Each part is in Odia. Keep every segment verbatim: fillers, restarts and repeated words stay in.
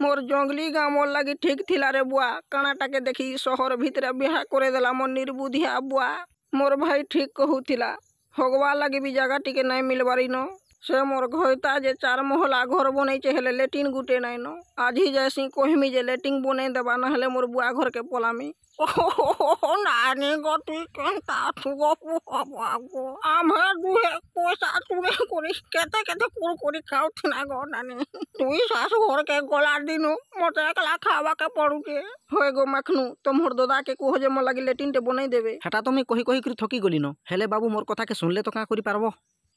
ମୋର୍ ଜଙ୍ଗଲି ଗାଁ ମୋର୍ ଲାଗି ଠିକ୍ ଥିଲା ରେ ବୁଆ। କାଣାଟାକେ ଦେଖି ସହର ଭିତରେ ବିହା କରେଇଦେଲା ମୋର୍ ନିର୍ବୁଦ୍ଧିଆ ବୁଆ। ମୋର୍ ଭାଇ ଠିକ୍ କହୁଥିଲା, ହଗବା ଲାଗି ବି ଜାଗା ଟିକେ ନାଇଁ ମିଲବାର୍ ଇନ। ସେ ମୋର୍ ଘଇତା ଯେ ଚାର୍ ମହଲା ଘର ବନେଇଛେ, ହେଲେ ଲେଟିନ୍ ଗୁଟେ ନାଇଁନ। ଆଜି ଯାଏସିଁ କହେମି ଯେ ଲେଟିନ୍ ବନେଇ ଦେବା, ନହେଲେ ମୋର୍ ବୁଆ ଘରକେ ପଲାମି। ନାନୀ ଗୋ, ତୁଇ କେନ୍ତା ଅଛୁ ଗୋ ବୁଆ ଗୋ? ଆମ୍ଭେ ଦୁହେଁ ପଇସା ଚୁରେଇ କରି କେତେ କେତେ କୁରକୁରି ଖାଉଥିନା ଗୋ ନାନୀ। ତୁଇ ଶାଶୁ ଘରକେ ଗଲା ଦିନୁ ମତେ ଏକଲା ଖାବାକେ ପଡୁଛେ। ହଏ ଗୋ ମାଖନୁ, ତମର ଦଦାକେ କୁହ ଯେ ମୋର୍ ଲାଗି ଲେଟିନ୍ ଟେ ବନେଇ ଦେବେ। ହେଟା ତ ମୁଇଁ କହି କହିକରି ଥକି ଗଲିନ, ହେଲେ ବାବୁ ମୋର୍ କଥାକେ ଶୁନଲେ ତ କାଁ କରି ପାରବ?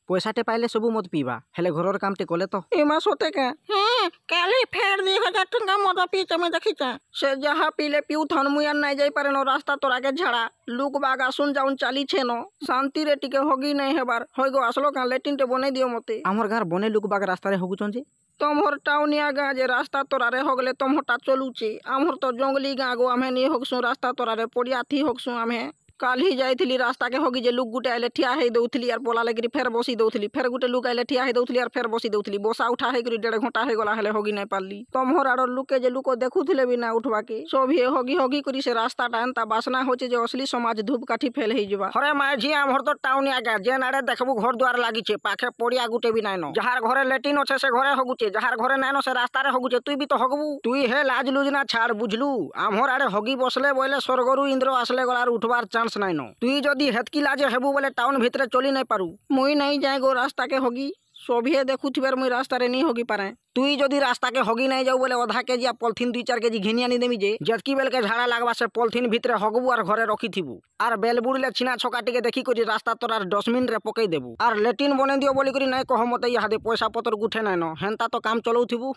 ପଇସାଟେ ପାଇଲେ ସବୁ ମଦ ପିଇବା, ହେଲେ ଘରର କାମଟେ କଲେ ତ। ଏମା, ସତେ କାଁ? ହଁ, କାଲି ଫେର ଦୁଇ ହଜାର ଟଙ୍କା ମଦ ପିଇଛେ, ମୁଇଁ ଦେଖିଛେ। ସେ ଯାହା ପିଇଲେ ପିଉଥନ୍, ମୁଇଁ ଆର୍ ନାଇଁ ଯାଇପାରେନ ରାସ୍ତା ତରାକେ। ଝାଡ଼ା ଲୁକ୍ ବାଗ ଆସୁନ୍ ଯାଉନ୍ ଚାଲିଛେ ନ, ଶାନ୍ତିରେ ଟିକେ ହଗି ନାଇଁ ହେବାର୍। ହଇ ଗୋ, ଆସଲ କାଁ? ଲେଟିନ୍ ଟେ ବନେଇ ଦିଅ ମତେ। ଆମର୍ ଗାଁର ବନେ ଲୁକ୍ ବାଗ ରାସ୍ତାରେ ହଗୁଛନ୍ ଯେ। ତମର ଟାଉନିଆ ଗାଁ ଯେ ରାସ୍ତା ତରାରେ ହଗଲେ ତମରଟା ଚଲୁଛେ। ଆମର ତ ଜଙ୍ଗଲି ଗାଁ ଗୋ, ଆମେ ନି ହଗସୁଁ ରାସ୍ତା ତରାରେ, ପଡ଼ିଆ ଥି ହଗସୁଁ ଆମେ। କାଲି ଯାଇଥିଲି ରାସ୍ତାକେ ହଗି ଯେ ଲୁକ୍ ଗୁଟେ ଆଇଲେ ଠିଆ ହେଇ ଦଉଥିଲି ଆର୍ ପଲା ଲାଗିରି ଫେର୍ ବସି ଦଉଥିଲି। ଫେର୍ ଗୁଟେ ଲୁକ୍ ଆଇଲେ ଠିଆ ହେଇ ଦଉଥିଲି ଆର୍ ଫେର୍ ବସି ଦଉଥିଲି। ବସା ଉଠା ହେଇକରି ଦେଢ଼ ଘଣ୍ଟା ହେଇଗଲା, ହେଲେ ହଗି ନାଇଁ ପାରିଲି। ତମର ଆଡ଼ର ଲୁକେ ଯେ ଲୁକ ଦେଖୁଥିଲେ ବି ନା ଉଠବାକେ। ସଭିଏ ହଗି ହଗି କରି ସେ ରାସ୍ତାଟା ଏନ୍ତା ବାସ୍ନା ହଉଛେ ଯେ ଅସଲି ସମାଜ ଧୂପକାଠି ଫେଲ୍ ହେଇଯିବା। ହରେ ମାଝି, ଆମର ତ ଟାଉନିଆ ଗାଁ, ଯେନ୍ ଆଡ଼େ ଦେଖବୁ ଘର ଦ୍ୱାର ଲାଗିଛେ, ପାଖେ ପଡ଼ିଆ ଗୁଟେ ବି ନାଇଁନ। ଯାହାର ଘରେ ଲେଟିନ୍ ଅଛେ ସେ ଘରେ ହଗୁଛେ, ଯାହାର ଘରେ ନାଇଁନ ସେ ରାସ୍ତାରେ ହଗୁଛେ। ତୁଇ ବି ତ ହଗବୁ। ତୁଇ ହେ ଲାଜ ଲୁଜ ନା ଛାଡ଼, ବୁଝଲୁ? ଆମର ଆଡ଼େ ହଗି ବସଲେ ବୋଇଲେ ସ୍ୱର୍ଗରୁ ଇନ୍ଦ୍ର ଆସିଲେ ଗଲାର ଉଠବାର ଚାନ୍ସ ନାଇଁନ। ତୁଇ ଯଦି ହେତକି ଲାଜ ହେବୁ ବୋଲେ ଟାଉନ ଭିତରେ ଚଲି ନାଇଁ ପାରୁ। ମୁଇଁ ନାଇଁ ଯାଏ ଗୋ ରାସ୍ତାକେ ହଗି। ସଭିଏ ଦେଖୁଥିବାର ମୁଇଁ ରାସ୍ତାରେ ନି ହଗି ପାରେ। ତୁଇ ଯଦି ରାସ୍ତାକେ ହଗି ନାଇଁ ଯାଉ ବୋଲେ ଅଧା କେଜି ପଲିଥିନ୍ ଦୁଇ ଚାର କେଜି ଘିନି ଆନି ଦେମି ଯେ ଯେତକି ବେଲକେ ଝାଡ଼ା ଲାଗବା ସେ ପଲିଥିନ୍ ଭିତରେ ହଗବୁ ଆର୍ ଘରେ ରଖିଥିବୁ। ଆର୍ ବେଲ ବୁଡ଼ିଲେ ଛିନା ଛକା ଟିକେ ଦେଖିକରି ରାସ୍ତା ତରାର ଡଷ୍ଟବିନ୍ ରେ ପକେଇ ଦେବୁ। ଆର୍ ଲେଟିନ୍ ବନେଇ ଦିଅ ବୋଲିକରି ନାଇଁ କହ ମତେ, ଇହାଦେ ପଇସା ପତ୍ର ଗୁଠେ ନାଇଁନ, ହେନ୍ତା ତ କାମ ଚଲଉଥିବୁ।